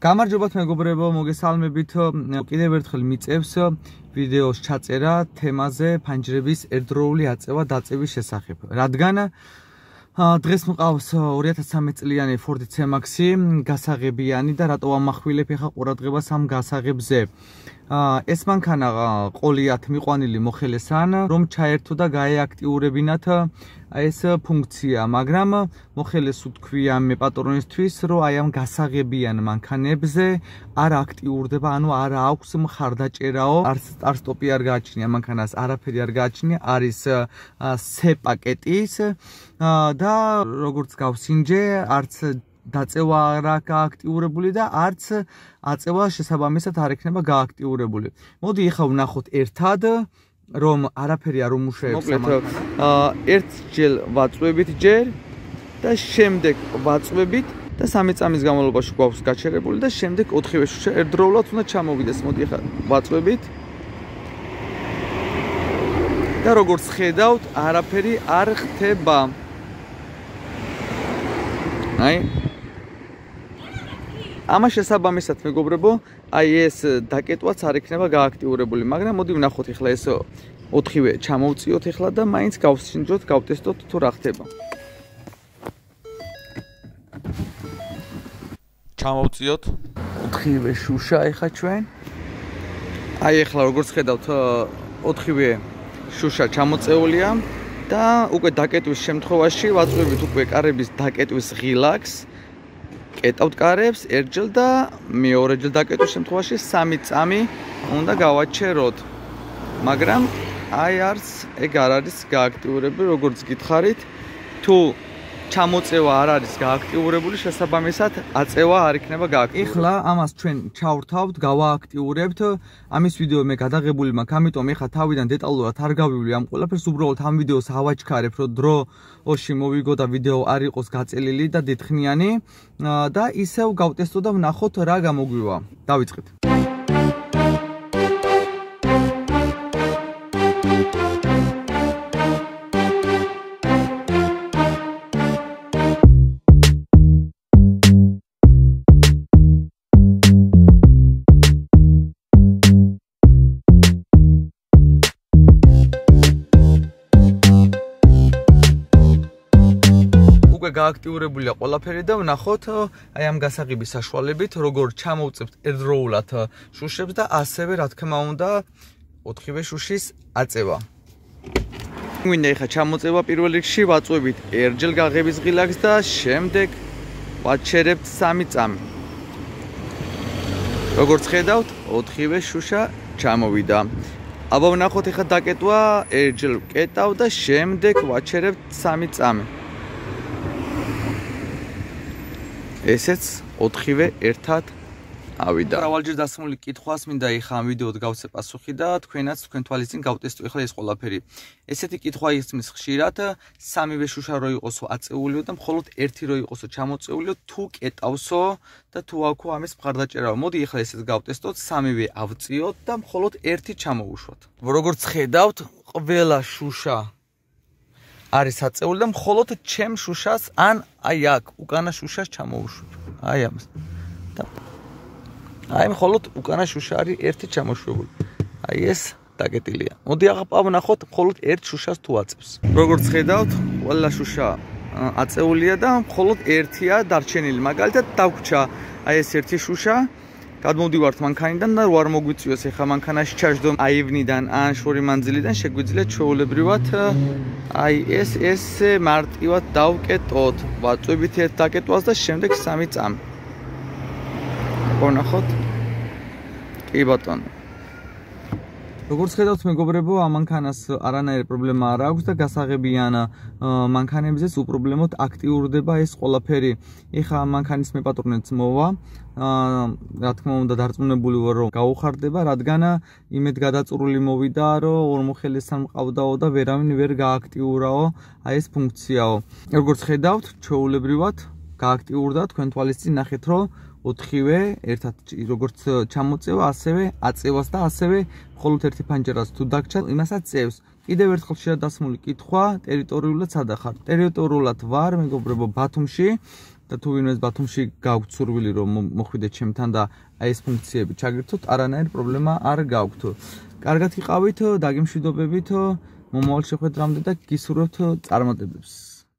გამარჯობათ მეგობრებო, მოგესალმებით. კიდევ ერთხელ მიწევს ვიდეოს ჩაწერა თემაზე ფანჯრების ერთდროული აწევა დაწევის შესახებ. რადგან დღეს მყავს 2013 წლიანი Ford C-Max-ი გასაღებიანი და რატო ამახვილებ ახლა ყურადღებას ამ გასაღებზე. ეს მანქანა ყოლიათ მიყვანილი მოხელესან, რომ ჩაერთო და გაეაქტიურებინათ ეს ფუნქცია, მაგრამ მოხელეს უთქვია მე პატრონისთვის, რომ აი ამ გასაღებიან მანქანებზე არ აქტიურდება, ანუ არ აქვს მხარდაჭერაო, არც სტარტ-სტოპი არ გააჩნია მანქანას, არაფერი არ გააჩნია, არის C პაკეტის და როგორც გავსინჯე, არც დაწევა არ გააქტიურებული და არც აწევა შესაბამისად არ ექნება გააქტიურებული. მოდი ახლა ვნახოთ ერთად, რომ არაფერი არ უმუშავებს ამანქანას. ერთჯერ ვაწვევით ჯერ და შემდეგ ვაწვევით და 3 წამის განმავლობაში გვაქვს გაჩერებული და შემდეგ 4-ვე შუშა ერთდროულად უნდა ჩამოვიდეს. მოდი ახლა ვაწვევით. და როგორც ხედავთ, არაფერი არ ხდება. აი ამას შესაბამისად მეგობრებო, აი ეს დაკეტვაც არ იქნება გააქტიურებული, მაგრამ მოდი ვნახოთ ახლა ეს 4-ვე ჩამოვწიოთ ახლა და მაინც გავსინჯოთ, გავტესტოთ თუ რა ხდება. ჩამოვწიოთ 4-ვე შუშა ახლა ჩვენ. აი ახლა როგორც ხედავთ 4-ვე შუშა ჩამოწეულია და უკვე დაკეტვის შემთხვევაში ვაწვევით უკვე კარების დაკეტვის ღილაკს. კეტავთ კარებს ერთჯერ და მეორეჯერ დაკეტვის შემთხვევაში 3 წამი უნდა გავაჩეროთ. მაგრამ აი არც ეგ არ არის გააქტიურებული, როგორც გითხარით. თუ ჩამოწევა არ არის გააქტიურებული, შესაბამისად აწევა არ იქნება გააქტიურებული. ეხლა ამას ჩვენ ჩავრთავთ, გავააქტიურებთ. ამის ვიდეო მე გადაღებული მაქვს, ამიტომ ეხლა თავიდან დეტალურად არ გავივლი ამ ყველაფერს, უბრალოდ ამ ვიდეოს ავაჩქარებ, რომ დროში მოვიგო და ვიდეო არ იყოს გაწელილი და დიდხნიანი და ისევ გავტესტო და ვნახოთ რა გამოგვივა. დავიწყეთ. გააქტიურებულია ყველაფერი და ვნახოთ აი ამ გასაღების საშუალებით როგორ ჩამოვწევთ ერთდროულად შუშებს და ასევე რა თქმა უნდა 4-ვე შუშის აწევა. გვინდა ახლა ჩამოწევა პირველ რიგში ვაწვევით ერთჯერ გაღების ღილაკს და შემდეგ ვაჩერებთ 3 წამი. როგორც ხედავთ 4-ვე შუშა ჩამოვიდა. აბა ვნახოთ ახლა დაკეტვა ერთჯერ ვკეტავ და შემდეგ ვაჩერებთ 3 წამი. ესეც 4-ვე ერთად ავიდა. მრავალჯერ დასმული კითხვას მინდა ეხა ამ ვიდეოდ გავცე პასუხი და თქვენაც თქვენ თვალის წინ გავტესტო ეხლა ეს ყველაფერი. ესეთი კითხვა ისმის ხშირად 3-ვე შუშა რო იყოსო აწეულიო და მხოლოდ 1 რო იყოსო ჩამოწეულიო, თუ კეტავსო და თუ აქვს ამის მხარდაჭერა. მოდი ეხლა ესეც გავტესტოთ, 3-ვე ავწიოთ და მხოლოდ 1 ჩამოუშვათ. როგორც ხედავთ, ყველა შუშა არის აწეული და მხოლოდ ჩემ შუშას ან აი აქ უკანა შუშას ჩამოუშვებ. აი ამას. და აი მხოლოდ უკანა შუშა არის 1 ჩამოშვებული. აი ეს დაკეტილია. მოდი ახლა ვნახოთ მხოლოდ 1 შუშას თუ აწევს. როგორც ხედავთ, ყველა შუშა აწეულია და მხოლოდ 1-ია დარჩენილი. მაგალითად დაგვრჩა აი ეს 1 შუშა. გადმოვდივართ მანქანიდან და არ მოგვიწვიოს ახლა მანქანაში ჩაჯდო აივნიდან ან შორი მანძილიდან შეგვიძლია ჩვეულებრივად აი ეს მარტივად დავკეტოთ. ვაწვევით ერთ დაკეტვას და შემდეგ 3 წამი. ვნახოთ. კი ბატონო. როგორც ხედავთ მეგობრებო, ამ მანქანას არანაირი პრობლემა არ აქვს და გასაღებიან მანქანებზეც უპრობლემოდ აქტიურდება ეს ყველაფერი. ეხლა ამ მანქანის მე პატრონიც მოვა. რა თქმა უნდა დარწმუნებული ვარ რომ გაუხარდება, რადგან იმედ გადაწურული მოვიდა, რომ ორმოხელესთან მყავდაო და ვერავინ ვერ გააქტიურაო აი ეს ფუნქციაო. როგორც ხედავთ, ჩვეულებრივად გააქტიურდა, თქვენ თვალის წინ ნახეთ, რომ 4-ვე ერთად როგორც ჩამოწევა, ასევე აწევას და ასევე მხოლოდ ერთი ფანჯარას თუ დაგჭა, იმასაც წევს. კიდევ ერთხელ შეადასმული კითხვა, ტერიტორიულად სადა ხარ? ტერიტორიულად ვარ, მეგობრებო, ბათუმში. და თუ ვინმეს ბათუმში გაქვთ სურვილი რომ მოხვიდეთ ჩემთან და აი ეს ფუნქციები ჩაგირთოთ, არანაირი პრობლემა არ გაქვთ. კარგად გიყავით, დაგემშვიდობებით, მომავალ შეხვედრამდე და გისურვებთ წარმატებებს.